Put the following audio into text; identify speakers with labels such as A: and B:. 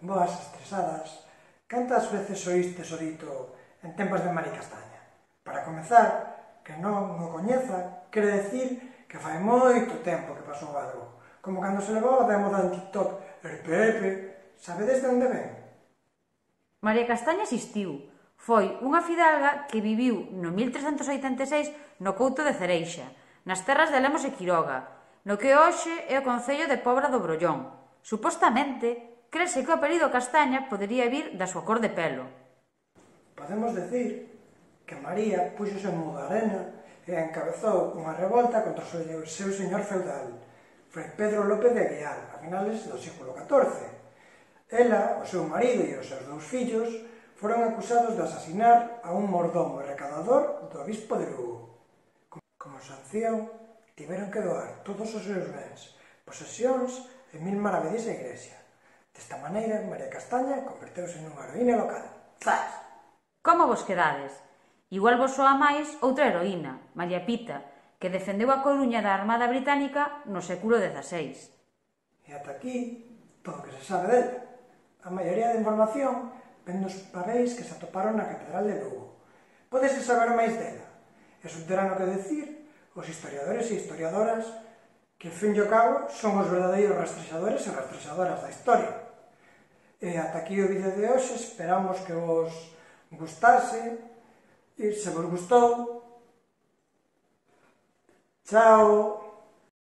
A: Boas estresadas, cantas veces oístes o dito en tempos de Mari Castaña? Para comezar, que non o coñeza, quere decir que fai moito tempo que pasou algo, como cando se levou de moda en TikTok el Pepe. Sabedes de onde ven?
B: María Castaña existiu. Foi unha fidalga que viviu no 1386 no Couto de Cereixa, nas terras de Lemos e Quiroga, no que hoxe é o concello de Pobra do Brollón. Supostamente, crese que o apelido Castaña podería vir da súa cor de pelo.
A: Podemos decir que María puxose en Mudarena e encabezou unha revolta contra o seu señor feudal, Fray Pedro López de Aguiar, a finales do século XIV. Ela, o seu marido e os seus dous fillos foron acusados de asasinar a un mordomo e recadador do obispo de Lugo. Como sanción, tiveron que doar todos os seus bens, posesións e 1000 maravedís á igrexa. Desta maneira, María Castaña converteuse nunha heroína local. Zas!
B: Como vos quedades? Igual vos soa máis outra heroína, María Pita, que defendeu a Coruña da Armada Británica no século XVI.
A: E ata aquí, todo o que se sabe dela. A maioría da información ven nos papeis que se atoparon na Catedral de Lugo. Pódese saber máis dela. E subterán o que decir os historiadores e historiadoras que, ao fin e ao cabo, son os verdadeiros rastrexadores e rastrexadoras da historia. E ata aquí o vídeo de hoxe, esperamos que vos gustase, e se vos gustou, chao!